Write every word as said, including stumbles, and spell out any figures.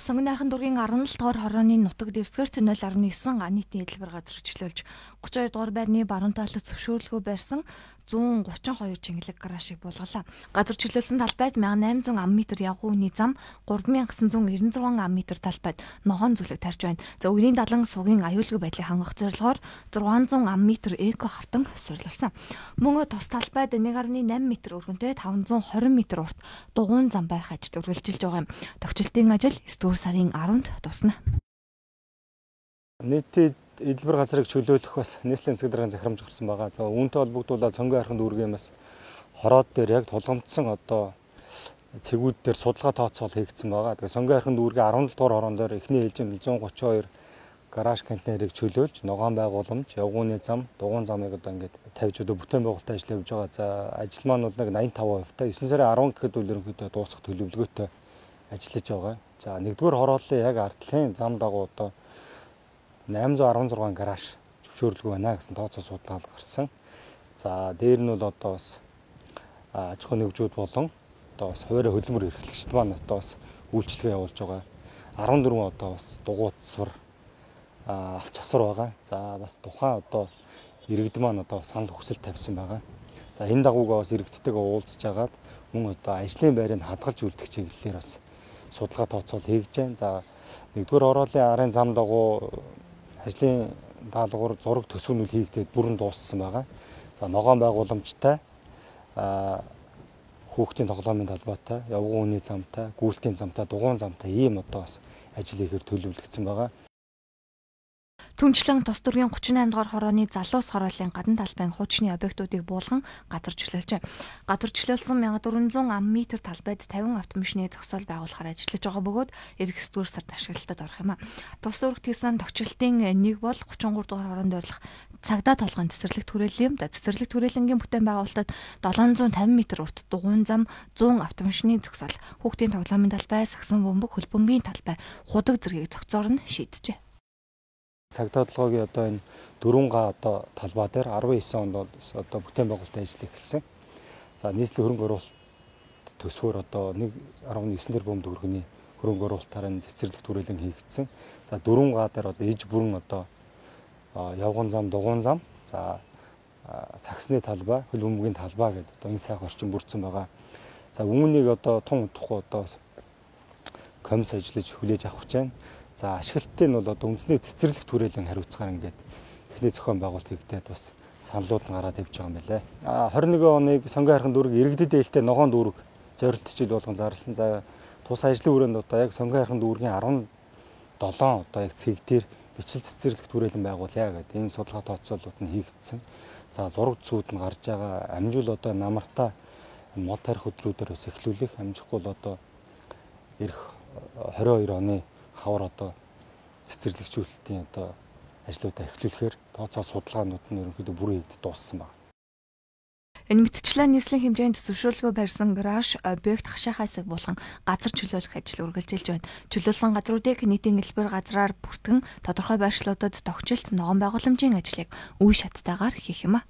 Сонгон найрхан дүүргийн арван л дугаар хорооны нутаг дэвсгэрт нуль орон девять га нийтийн эдлбэр газар чөлөөлж гурван хоёр дугаар байрны баруун талд зөвшөөрлөгөө барьсан зуун гучин хоёр чингэлэг гаражийг буулгалаа. Газар чөлөөлсөн талбайд мянга найман зуун ам метр явган үний зам, гурван мянга гэсэн зуун эрдэнэ зургаан ам метр талбайд ногоон зүлэг тарж байна. За өвгний далан сугийн аюулгүй байдлыг хангах зорилгоор зургаан зуун ам метр эко хавтан сурлуулсан. Мөн тус талбайд нэг гаруй найман метр өргөнтэй таван зуун хорин метр урт дугуйн зам барих ажил үргэлжилж байгаа юм. Тогтчлтын ажил дөрөв сарын аравнд тусна. Нийтийн эдлбэр газрыг чөлөөлөх бас нийслэлийн засаг даргын захирамж гарсан байгаа. За үүнтэй холбогдуулаад сонгон хайрхан дүүргийн бас хороод дээр яг тулгамдсан одоо цэгүүд дээр судалгаа тооцоол хийгдсэн байгаа. Тэгээ сонгон хайрхан дүүргийн арван дугаар хороон дээр эхний ээлжинд зуун гучин хоёр гараж контейнерыг чөлөөлж ногоон байгууламж, явгууны зам, дугуйн замыг одоо ингээд тавьж одоо бүтээн байгуулалтын ажил явьж байгаа. За ажил маань бол нэг найман таван хувь та есөн сарын арван гэхэд үл ерөнхийдөө дуусах төлөвлөгөөтэй ажиллаж байгаа. За нэгдүгээр хорооллын яг ардлын зам дагуу одоо найман зуун арван зургаан гараж зөвшөөрлөгөө байна гэсэн тооцоо судалгаа гарсан. За дээр нь бол одоо бас аж ахуй нэгжүүд болон одоо бас хуваарь хөдөлмөр эрхлэгчид маань одоо бас үйлчлэгээ явуулж байгаа. арван дөрвөн одоо бас дугуй засвар авч засвар байгаа. За бас тухайн одоо иргэд маань одоо санал хүсэл тавьсан байгаа. За энэ дагуугаа бас иргэдтэйгээ уулзж агаад мөн одоо ажлын байрыг хадгалж үлдэх чиглэлээр бас судалгаа тооцоол хийгдэж байна. За нэгдүгээр хорооллын арын зам дагуу ажлын даалгавар зураг төсвөнүүд хийгдээд бүрэн дууссан байгаа. За ногоон байгууламжтай, хүүхдийн тоглоомын талбайтай, явган үний замтай, гүйлтийн замтай, дугуйн замтай ийм одоо бас ажил хийхээр төлөвлөгдсөн байгаа. Түнчлэн тус дүүргийн гучин найман дугаар хорооны залуус хорооллын гадна талбайн хуучны объектуудыг буулган газар чөлөөлжээ. Газар чөлөөлсөн мянга дөрвөн зуун ам метр талбайд тавин автомашины зогсоол байгуулахаар ажиллаж байгаа бөгөөд эх дөрөв сард ашиглалтад орох юм а. Тус дүүрэгт хийсэн тогтчлтын нэг бол гучин гурав дугаар хороонд ойрлох цагдаа толгойн цэцэрлэг түрээлэн юм. За цэцэрлэг түрээлэнгийн бүтээн байгуулалтад долоон зуун тавин метр урт дугуйн зам, зуун автомашины зогсоол, хүүхдийн тоглоомын талбай, сагсан бөмбөг, хөлбөмбөгийн талбай, худаг зэргийг зохицоор нь шийджээ. Цагдаа толгойн одоо энэ дөрвөн га одоо талбай дээр арван девять онд одоо бүтээн байгуулалтын ажил эхэлсэн. За нийслэлийн хөрөнгө оруулалт төсвөр одоо нэг арван девять дээр бөмбөг өргөний хөрөнгө оруулалтаар цэцэрлэг түрээлэн хийгдсэн. За дөрвөн га дээр одоо иж бүрэн одоо явган зам, дугуйн зам, за сагсны талбай, хөлбөмбөгийн талбай гэдэг одоо энэ сайхан орчин бүрдсэн байгаа. За үүнийг одоо тун утгахгүй одоо комисс ажиллаж хүлээж авах гэж байна. За ашиглалтыг нь бол одоо үндэсний цэцэрлэг түрээлэн хариуцгаар ингээд эхний зохион байгуулалт хийгдээд бас саналууд нь гараад явж байгаа юм байна. А двадцать and one оныг сонгон хайрхан дүүрэг иргэдэд ээлтэй ногоон дүүрэг зорилт хичээл болгон зарласан. За тус ажлын хүрээнд одоо яг сонгон хайрхан дүүргийн арван долоон одоо яг цэг дээр бичил цэцэрлэг түрээлэн байгуулъя гэдэг энэ судалгаа тооцоолууд нь хийгдсэн. За зураг зүүд нь гарч байгаа амжуул одоо намартаа мод тарих өдрүүдээр бас эхлүүлэх амжихгүй бол одоо ирэх двадцать two оны хавар одоо цэцэрлэгчүүлэлтийн одоо ажлуудаа эхлүүлэхээр тооцоо судалгаанууд нь ерөнхийдөө бүрэн хийгдэж дууссан байна. Энэ мэтчлэн нийслэлийн хэмжээнд зөвшөөрлөгөө барьсан гараж объект хашаа хайсаг болгон газар чөлөөлөх ажил үргэлжилж байна. Чөлөөлсөн газруудыг нийтийн элбэр газраар бүртгэн тодорхой байршлуудад тогтчлт ногоон байгууламжийн ажлыг үе шаттайгаар хийх юм а.